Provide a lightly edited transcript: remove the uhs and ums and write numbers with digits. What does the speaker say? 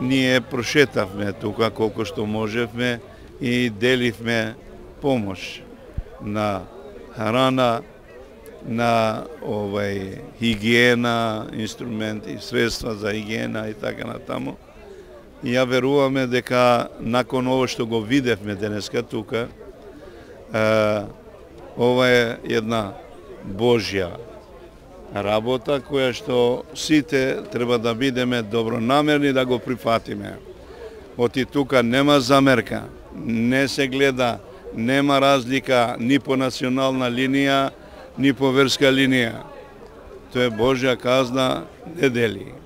ние прошетавме тука колку што можевме и деливме помош на храна, на хигиена, инструменти, средства за хигиена и така натаму. И ја веруваме дека након ово што го видевме денеска тука, ова е една Божја работа која што сите треба да бидеме добронамерни да го прифатиме. Оти тука нема замерка, не се гледа, нема разлика ни по национална линија, ни по верска линија. Тоа е Божја казна, не дели.